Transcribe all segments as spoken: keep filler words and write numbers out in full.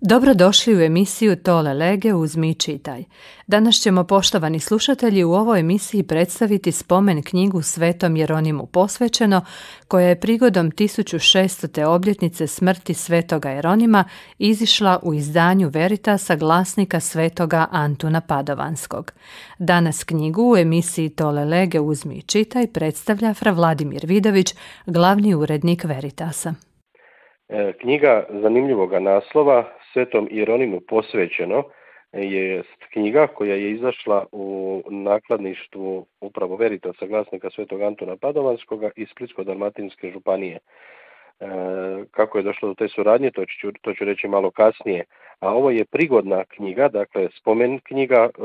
Dobrodošli u emisiju Tole lege uzmi i čitaj. Danas ćemo, poštovani slušatelji, u ovoj emisiji predstaviti spomen knjigu Svetom Jeronimu posvećeno, koja je prigodom tisuću šeststote obljetnice smrti Svetoga Jeronima izišla u izdanju Veritasa glasnika Svetoga Antuna Padovanskog. Danas knjigu u emisiji Tole lege uzmi i čitaj predstavlja fra Vladimir Vidović, glavni urednik Veritasa. Knjiga zanimljivoga naslova Svetom Jeronimu posvećeno je knjiga koja je izašla u nakladništvu upravo Veritasa glasnika Svetog Antuna Padovanskoga iz Splitsko-dalmatinske županije. E, kako je došlo do te suradnje, to ću, to ću reći malo kasnije. A ovo je prigodna knjiga, dakle spomen knjiga e,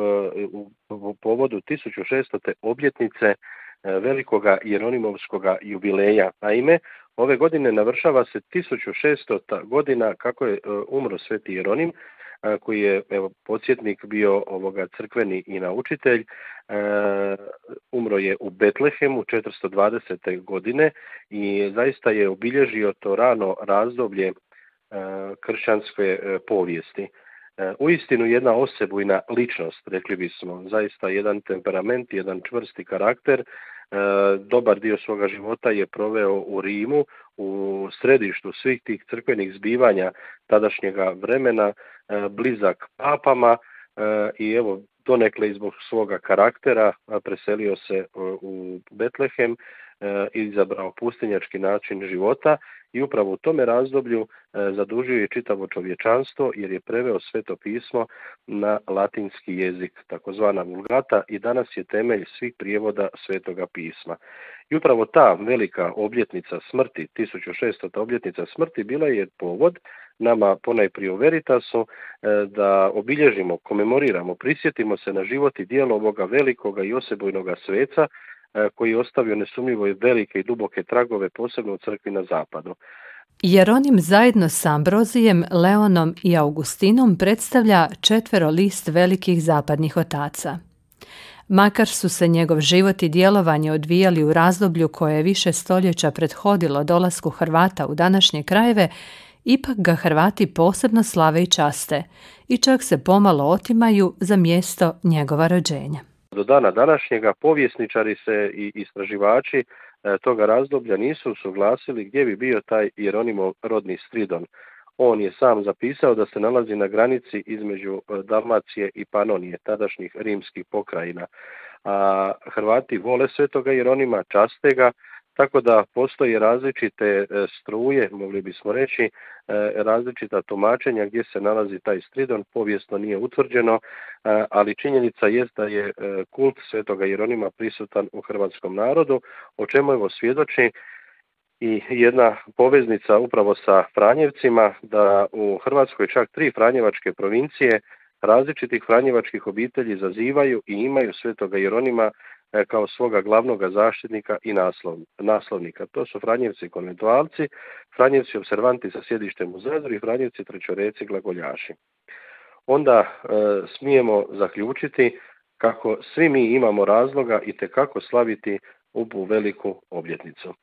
u, u povodu tisuću šeststote obljetnice e, velikoga Jeronimovskoga jubileja. Naime, ove godine navršava se tisuću šeststota godina kako je uh, umro Sveti Jeronim, uh, koji je evo, podsjetnik bio ovoga crkveni i naučitelj. Uh, umro je u Betlehemu četiristo dvadesete godine i zaista je obilježio to rano razdoblje uh, kršćanske uh, povijesti. Uh, uistinu jedna osebujna ličnost, rekli bismo, zaista jedan temperament, jedan čvrsti karakter. Dobar dio svoga života je proveo u Rimu, u središtu svih tih crkvenih zbivanja tadašnjega vremena, blizak papama i evo donekle zbog svoga karaktera preselio se u Betlehem, izabrao pustinjački način života i upravo u tome razdoblju zadužio je čitavo čovječanstvo jer je preveo Sveto pismo na latinski jezik, takozvana vulgata, i danas je temelj svih prijevoda Svetoga pisma. I upravo ta velika obljetnica smrti, tisuću šeststota obljetnica smrti, bila je povod nama ponajprije u Veritasu da obilježimo, komemoriramo, prisjetimo se na život i djelo ovoga velikoga i osebujnoga sveca koji je ostavio nesumnjivo i velike i duboke tragove, posebno u crkvi na zapadu. Jeronim zajedno s Ambrozijem, Leonom i Augustinom predstavlja četverolist velikih zapadnih otaca. Makar su se njegov život i djelovanje odvijali u razdoblju koje je više stoljeća prethodilo dolasku Hrvata u današnje krajeve, ipak ga Hrvati posebno slave i časte i čak se pomalo otimaju za mjesto njegova rođenja. Do dana današnjega povjesničari se i istraživači toga razdoblja nisu usuglasili gdje bi bio taj Jeronimov rodni Stridon. On je sam zapisao da se nalazi na granici između Dalmacije i Panonije, tadašnjih rimskih pokrajina. A Hrvati vole Svetoga Jeronima, časte ga, tako da postoje različite struje, mogli bismo reći, različita tumačenja gdje se nalazi taj Stridon, povijesno nije utvrđeno, ali činjenica jest da je kult Svetoga Jeronima prisutan u hrvatskom narodu, o čemu evo svjedoči i jedna poveznica upravo sa Franjevcima, da u Hrvatskoj čak tri franjevačke provincije različitih franjevačkih obitelji zazivaju i imaju Svetoga Jeronima kao svoga glavnoga zaštitnika i naslov, naslovnika. To su Franjevci konventualci, Franjevci observanti sa sjedištem u Zadru i Franjevci trećoreci glagoljaši. Onda e, smijemo zaključiti kako svi mi imamo razloga i tekako slaviti ovu veliku obljetnicu.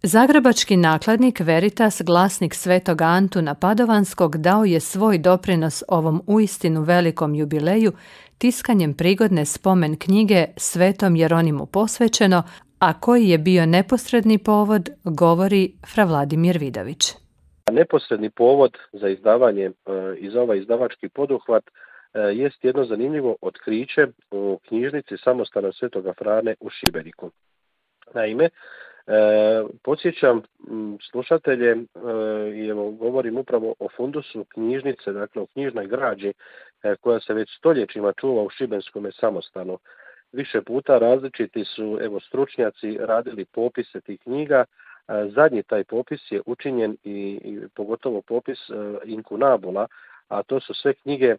Zagrebački nakladnik Veritas, glasnik Svetoga Antuna Padovanskog, dao je svoj doprinos ovom uistinu velikom jubileju tiskanjem prigodne spomen knjige Svetom Jeronimu posvećeno, a koji je bio neposredni povod, govori fra Vladimir Vidović. Neposredni povod za izdavanje i za ovaj izdavački poduhvat jest jedno zanimljivo otkriće u knjižnici Samostana Svetoga Frane u Šibeniku. Naime, E, podsjećam slušatelje e, i evo govorim upravo o fundusu knjižnice, dakle o knjižnoj građi e, koja se već stoljećima čuva u Šibenskome Samostanu. Više puta različiti su evo stručnjaci radili popise tih knjiga. E, zadnji taj popis je učinjen i, i pogotovo popis e, inkunabula, a to su sve knjige e,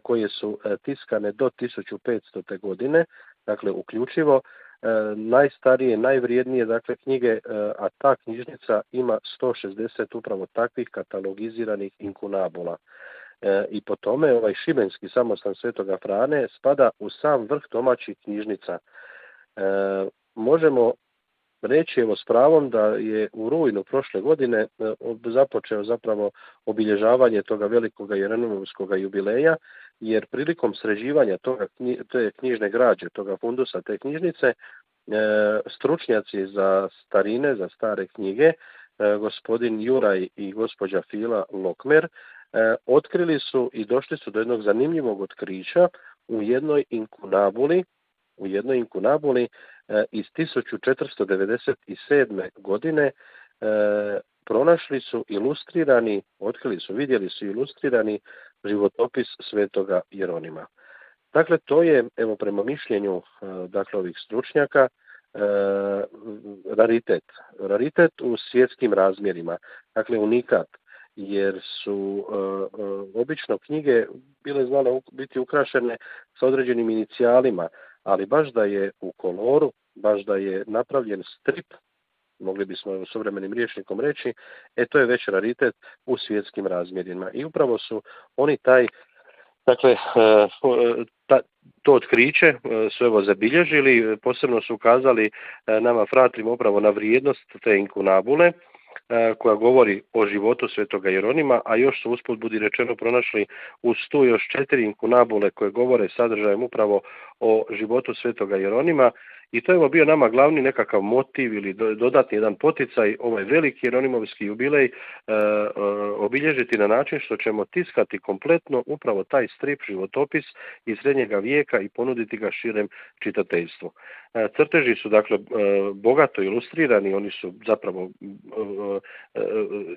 koje su e, tiskane do tisuću petstote godine, dakle uključivo E, najstarije, najvrijednije dakle knjige, e, a ta knjižnica ima sto šezdeset upravo takvih katalogiziranih inkunabula. E, I po tome ovaj Šibenski Samostan Svetoga Frane spada u sam vrh domaćih knjižnica. E, možemo reći evo s pravom da je u rujnu prošle godine započeo zapravo obilježavanje toga velikog Jeronimovskog jubileja, jer prilikom sređivanja toga, te knjižne građe, toga fundusa, te knjižnice, stručnjaci za starine, za stare knjige, gospodin Juraj i gospođa Fila Lokmer, otkrili su i došli su do jednog zanimljivog otkrića u jednoj inkunabuli, u jednoj inkunabuli iz tisuću četiristo devedeset sedme. godine pronašli su ilustrirani, otkrili su, vidjeli su ilustrirani životopis svetoga Jeronima. Dakle, to je, evo prema mišljenju dakle, ovih stručnjaka, raritet. Raritet u svjetskim razmjerima, dakle unikat, jer su obično knjige bile znale biti ukrašene sa određenim inicijalima, ali baš da je u koloru, baš da je napravljen strip, mogli bismo u suvremenim rječnikom reći, e to je već raritet u svjetskim razmjerima. I upravo su oni taj, dakle, ta, to otkriće su evo zabilježili, posebno su ukazali nama fratrima upravo na vrijednost te inkunabule, koja govori o životu svetoga Jeronima, a još su usput budi rečeno pronašli uz tu još četiri inkunabule koje govore sadržajem upravo o životu svetoga Jeronima. I to je bio nama glavni nekakav motiv ili dodatni jedan poticaj, ovaj veliki Jeronimovski jubilej e, e, obilježiti na način što ćemo tiskati kompletno upravo taj strip životopis iz srednjega vijeka i ponuditi ga širem čitateljstvu. E, crteži su dakle e, bogato ilustrirani, oni su zapravo e, e,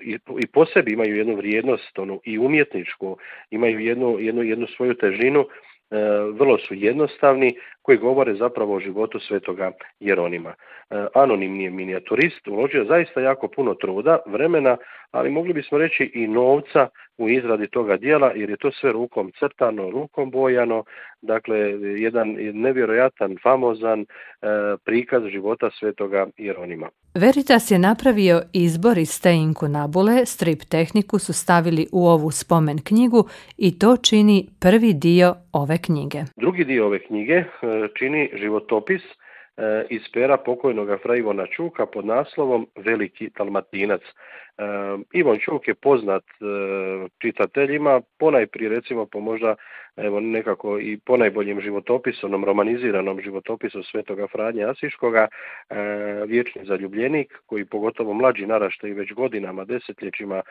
i, i po sebi imaju jednu vrijednost, onu i umjetničku, imaju jednu, jednu, jednu svoju težinu. E, vrlo su jednostavni, koji govore zapravo o životu svetoga Jeronima. E, anonimni je minijaturist, uložio zaista jako puno truda, vremena, ali mogli bismo reći i novca u izradi toga dijela, jer je to sve rukom crtano, rukom bojano, dakle jedan nevjerojatan, famozan e, prikaz života svetoga Jeronima. Veritas je napravio izbor iz te inkunabule, strip tehniku su stavili u ovu spomen knjigu i to čini prvi dio ove knjige. Drugi dio ove knjige čini životopis iz pera pokojnoga fra Ivona Čuka pod naslovom Veliki Dalmatinac. Ivan Čuk je poznat čitateljima, ponajprije recimo po možda evo nekako i ponajboljim životopisu, onom romaniziranom životopisu svetoga Franje Asiškoga, Vječni zaljubljenik, koji pogotovo mlađi naraštaji već godinama, desetljećima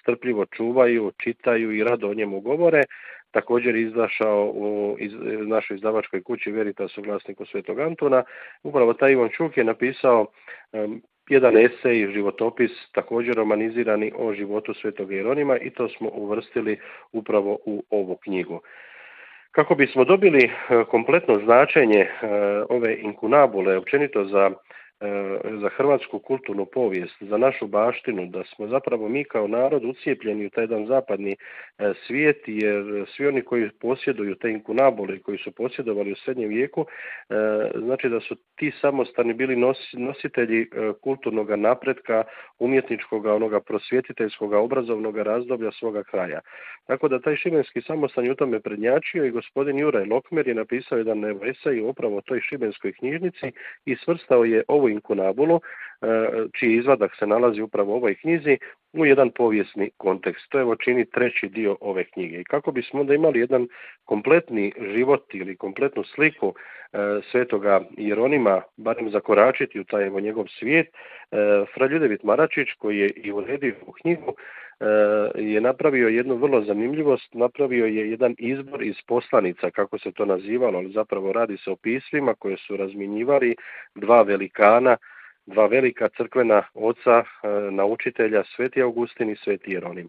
strpljivo čuvaju, čitaju i rado o njemu govore. Također izašao u iz, našoj izdavačkoj kući Veritasu, glasniku Svetog Antuna. Upravo taj Ivan Čuk je napisao um, jedan esej, životopis, također romanizirani o životu Svetog Jeronima i to smo uvrstili upravo u ovu knjigu. Kako bismo dobili uh, kompletno značenje uh, ove inkunabule, općenito za za hrvatsku kulturnu povijest, za našu baštinu, da smo zapravo mi kao narod ucijepljeni u taj jedan zapadni svijet, jer svi oni koji posjeduju te inkunabule, koji su posjedovali u srednjem vijeku, znači da su ti samostani bili nositelji kulturnog napretka, umjetničkog, onoga prosvjetiteljskog, obrazovnog razdoblja svoga kraja. Tako da taj šibenski samostan je u tome prednjačio i gospodin Juraj Lokmer je napisao jedan esej upravo o toj šibenskoj knjižnici i svrstao je ovu inkunabulu, čiji izvadak se nalazi upravo u ovoj knjizi, u jedan povijesni kontekst. To evo čini treći dio ove knjige. I kako bismo onda imali jedan kompletni život ili kompletnu sliku e, svetoga Jeronima, barem zakoračiti u taj evo njegov svijet, e, fra Ljudevit Maračić, koji je i uredio u knjigu, e, je napravio jednu vrlo zanimljivost, napravio je jedan izbor iz poslanica, kako se to nazivalo, ali zapravo radi se o pismima koje su razmjenjivali dva velikana, dva velika crkvena oca, naučitelja, Sveti Augustin i Sveti Jeronim.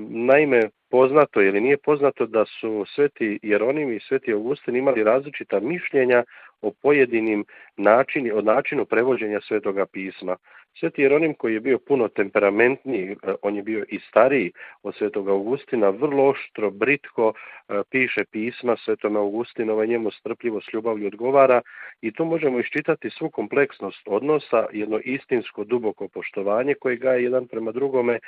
Naime, poznato ili nije poznato da su Sveti Jeronim i Sveti Augustin imali različita mišljenja o pojedinim načini, o načinu prevođenja Svetoga pisma. Sveti Jeronim, koji je bio puno temperamentniji, on je bio i stariji od Svetog Augustina, vrlo oštro, britko piše pisma Svetom Augustinu, njemu strpljivo s ljubavlju odgovara i tu možemo iščitati svu kompleksnost odnosa, jedno istinsko duboko poštovanje koje gaje jedan prema drugome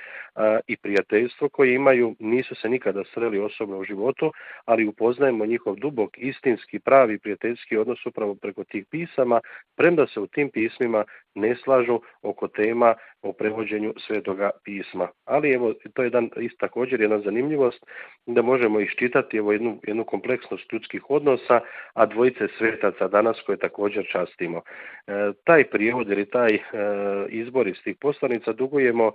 i prijateljstvo koje imaju, nisu se nikada sreli osobno u životu, ali upoznajemo njihov dubok, istinski, pravi prijateljski odnos upravo preko tih pisama, premda se u tim pismima ne slažu oko tema o prevođenju Svetoga pisma. Ali evo, to je jedan, isto također jedna zanimljivost da možemo iščitati evo jednu, jednu kompleksnost ljudskih odnosa, a dvojice svetaca danas koje također častimo. E, taj prijevod ili taj e, izbor iz tih poslanica dugujemo e,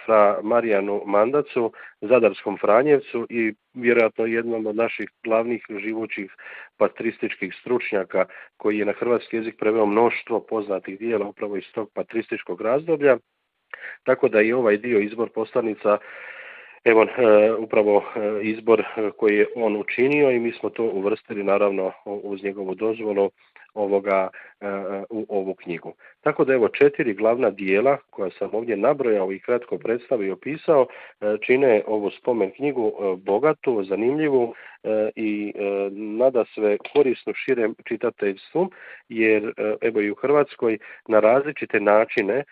fra Marijanu Mandacu, Zadarskom Franjevcu i vjerojatno jednom od naših glavnih živućih patrističkih stručnjaka koji je na hrvatski jezik preveo mnoštvo poznatih dijela upravo iz tog patrističkog razdoblja. Tako da i ovaj dio izbor poslanica, evo e, upravo e, izbor koji je on učinio i mi smo to uvrstili naravno uz njegovu dozvolu ovoga e, u ovu knjigu. Tako da evo četiri glavna dijela koja sam ovdje nabrojao i kratko predstavio i opisao e, čine ovu spomen knjigu e, bogatu, zanimljivu e, i e, nada sve korisnu širem čitateljstvu, jer e, evo i u Hrvatskoj na različite načine e,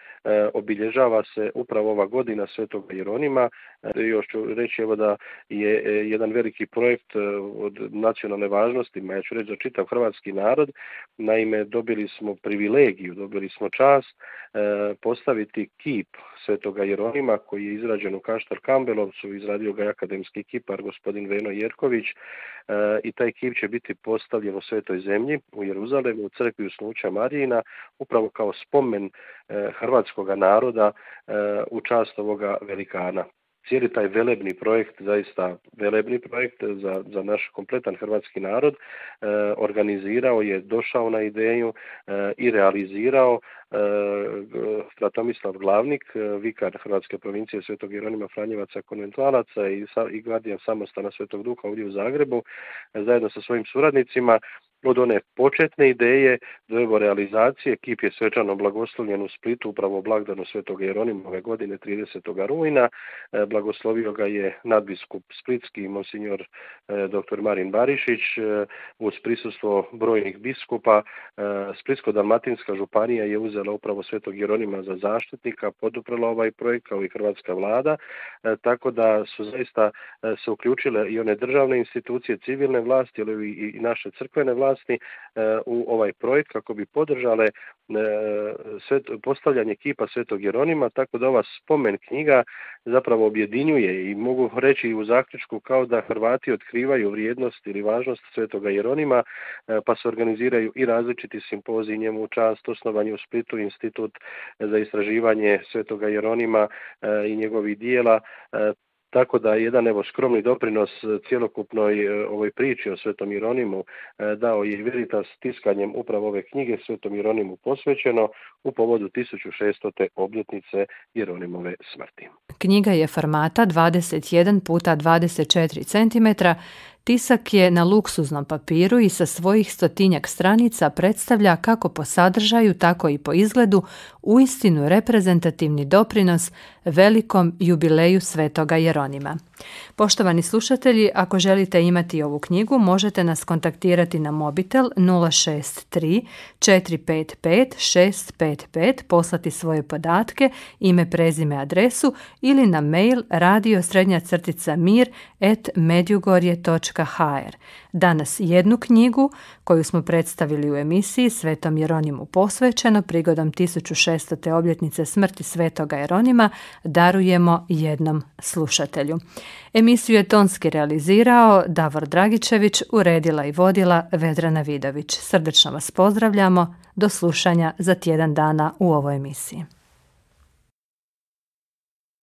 obilježava se upravo ova godina Svetog Jeronima. E, još ću reći evo da je e, jedan veliki projekt e, od nacionalne važnosti, ja ću reći za čitav hrvatski narod. Naime, dobili smo privilegiju, dobili smo čast e, postaviti kip Svetoga Jeronima koji je izrađen u Kaštel Kambelovcu, izradio ga je akademski kipar gospodin Veno Jerković e, i taj kip će biti postavljen u Svetoj zemlji u Jeruzalemu, u crkvi Usnuća Marijina, upravo kao spomen e, hrvatskoga naroda e, u čast ovoga velikana. Cijeli taj velebni projekt, zaista velebni projekt za, za naš kompletan hrvatski narod, e, organizirao je, došao na ideju e, i realizirao e, fra Tomislav Glavnik, vikar Hrvatske provincije Svetog Jeronima Franjevaca konventualaca i, i gardijan samostana Svetog Duha ovdje u Zagrebu, e, zajedno sa svojim suradnicima. Od one početne ideje do evo realizacije, kip je svečano blagoslovljen u Splitu upravo u blagdanu Svetog Jeronima ove godine tridesetog rujna. E, blagoslovio ga je nadbiskup splitski monsignor e, dr. Marin Barišić e, uz prisustvo brojnih biskupa. E, Splitsko-dalmatinska županija je uzela upravo Svetog Jeronima za zaštitnika, poduprla ovaj projekt kao i hrvatska vlada, e, tako da su zaista e, se uključile i one državne institucije, civilne vlasti, ali i, i naše crkvene vlasti u ovaj projekt kako bi podržale svet, postavljanje kipa Svetog Jeronima, tako da ova spomen knjiga zapravo objedinjuje i mogu reći u zaključku kao da Hrvati otkrivaju vrijednost ili važnost Svetoga Jeronima, pa se organiziraju i različiti simpoziji njemu u čast, osnovan u Splitu institut za istraživanje Svetoga Jeronima i njegovih dijela. Tako da jedan evo skromni doprinos cjelokupnoj ovoj priči o Svetom Jeronimu dao je Veritas tiskanjem upravo ove knjige Svetom Jeronimu posvećeno u povodu tisuću šeststote obljetnice Jeronimove smrti. Knjiga je formata dvadeset jedan puta dvadeset četiri centimetra, tisak je na luksuznom papiru i sa svojih stotinjak stranica predstavlja kako po sadržaju, tako i po izgledu uistinu reprezentativni doprinos velikom jubileju Svetoga Jeronima. Poštovani slušatelji, ako želite imati ovu knjigu, možete nas kontaktirati na mobitel nula šest tri četiri pet pet šest pet pet, poslati svoje podatke, ime, prezime, adresu ili na mail radio srednja crtica mir at medjugorje točka ha er. Danas jednu knjigu koju smo predstavili u emisiji Svetom Jeronimu posvećeno prigodom tisuću šeststote obljetnice smrti Svetoga Jeronima darujemo jednom slušatelju. Emisiju je tonski realizirao Davor Dragičević, uredila i vodila Vedrana Vidović. Srdačno vas pozdravljamo, do slušanja za tjedan dana u ovoj emisiji.